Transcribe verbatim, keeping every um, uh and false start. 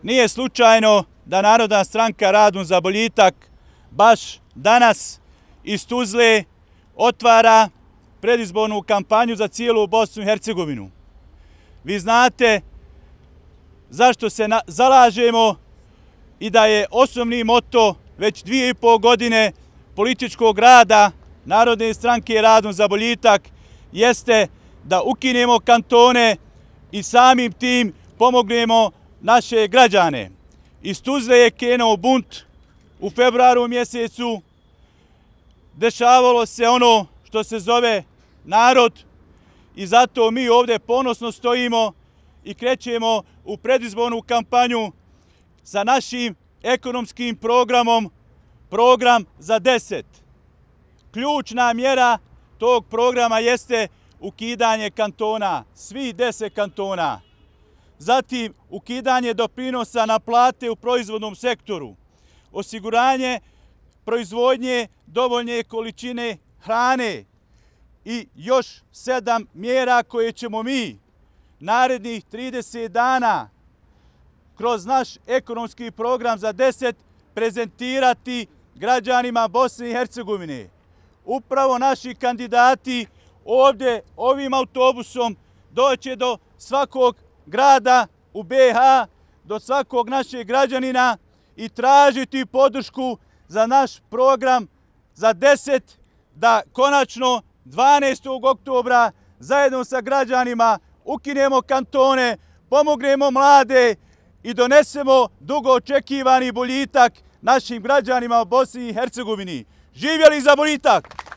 Nije slučajno da Narodna stranka Radun za boljitak baš danas iz Tuzle otvara predizbornu kampanju za cijelu Bosnu i Hercegovinu. Vi znate zašto se zalažemo i da je osnovni moto već dvije i pol godine političkog rada Narodne stranke Radun za boljitak jeste da ukinemo kantone i samim tim pomognemo naše građane. Iz Tuzle je krenuo bunt u februaru mjesecu, dešavalo se ono što se zove narod i zato mi ovdje ponosno stojimo i krećemo u predizbornu kampanju sa našim ekonomskim programom, program za deset. Ključna mjera tog programa jeste ukidanje kantona, svih deset kantona. Zatim ukidanje doprinosa na plate u proizvodnom sektoru, osiguranje proizvodnje dovoljne količine hrane i još sedam mjera koje ćemo mi narednih trideset dana kroz naš ekonomski program za deset prezentirati građanima Bosne i Hercegovine. Upravo naši kandidati ovdje ovim autobusom doće do svakog grada u be ha, do svakog našeg građanina i tražiti podršku za naš program za deset, da konačno dvanaestog oktobra zajedno sa građanima ukinemo kantone, pomognemo mlade i donesemo dugo očekivani boljitak našim građanima u Bosni i Hercegovini. Živjeli za boljitak!